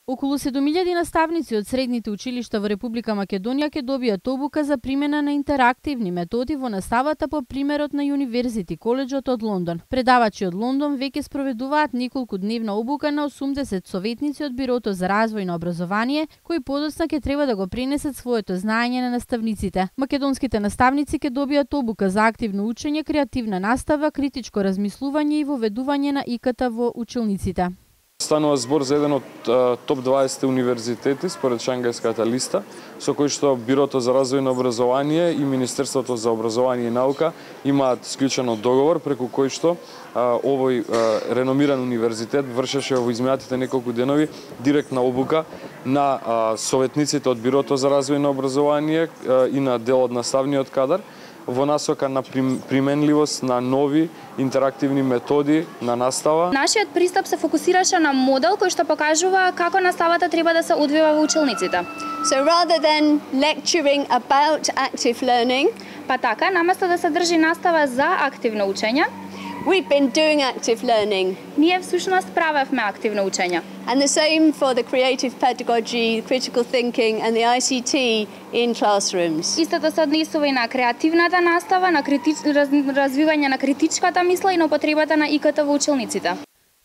Околу 7000 наставници од средните училишта во Република Македонија ќе добијат обука за примена на интерактивни методи во наставата по примерот на University Коледжот од Лондон. Предавачи од Лондон веќе спроведуваат неколку дневна обука на 80 советници од Бирото за развој на образование, кои подоцна ќе треба да го пренесат своето знаење на наставниците. Македонските наставници ќе добијат обука за активно учење, креативна настава, критичко размислување и воведување на ИКТ во училниците. Станува збор за еден од топ 20 универзитети според Шангајската листа, со кој што Бирото за развој на образование и Министерството за образование и наука имаат склучено договор преку кој што овој реномиран универзитет вршеше во изминатите неколку денови директна обука на советниците од Бирото за развој на образование и на дел од наставниот кадар во насока на применливост на нови интерактивни методи на настава. Нашиот пристап се фокусираше на модел кој што покажува како наставата треба да се одвива во училниците. So rather than lecturing about active learning, па така, наместо да се држи настава за активно учење, we've been doing active learning. Ние всушност правевме активно учење. And the same for the creative pedagogy, critical thinking and the ICT in classrooms. Истото се однесува и на креативната настава, на развивање на критичката мисла и на употребата на ИКТ во училниците.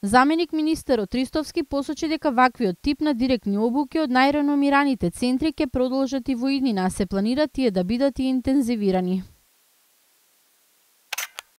Заменик министерот Ристовски посочи дека ваквиот тип на директни обуки од најреномираните центри ќе продолжат и во иднина, а се планира тие да бидат и интензивирани.